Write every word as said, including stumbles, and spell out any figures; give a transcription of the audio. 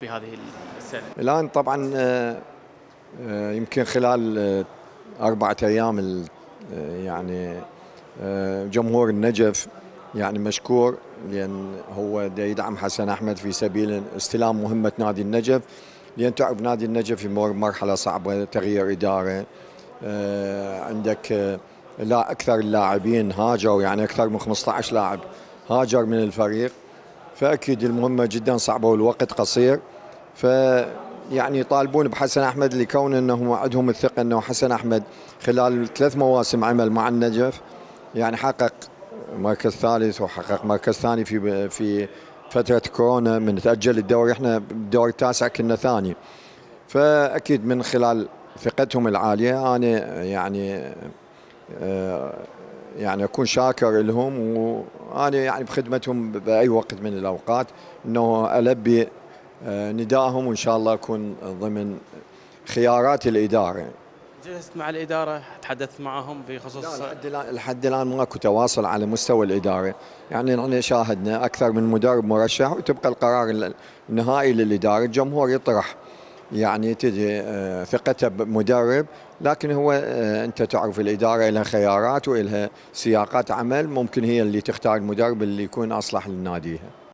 في هذه السنة؟ الآن طبعا يمكن خلال أربعة أيام يعني جمهور النجف يعني مشكور، لأن هو دا يدعم حسن أحمد في سبيل استلام مهمة نادي النجف، لأن تعرف نادي النجف يمر مرحلة صعبة، تغيير إدارة، عندك لا أكثر اللاعبين هاجروا، يعني أكثر من خمسة عشر لاعب هاجر من الفريق، فأكيد المهمة جدا صعبة والوقت قصير. ف يعني يطالبون بحسن أحمد لكون أنهم عندهم الثقة أنه حسن أحمد خلال ثلاث مواسم عمل مع النجف يعني حقق مركز ثالث وحقق مركز ثاني في في فترة كورونا، من تأجل الدوري احنا بالدور التاسع كنا ثاني. فأكيد من خلال ثقتهم العالية أنا يعني يعني أكون شاكر لهم، وأنا يعني بخدمتهم بأي وقت من الأوقات، أنه ألبي ندائهم، وإن شاء الله أكون ضمن خيارات الإدارة. جلست مع الإدارة، تحدثت معهم بخصوص؟ لا، لحد الآن لحد الآن ماكو تواصل على مستوى الإدارة، يعني نحن شاهدنا أكثر من مدرب مرشح، وتبقى القرار النهائي للإدارة. الجمهور يطرح يعني تجي ثقته بمدرب، لكن هو أنت تعرف الإدارة لها خيارات ولها سياقات عمل، ممكن هي اللي تختار المدرب اللي يكون أصلح لناديها.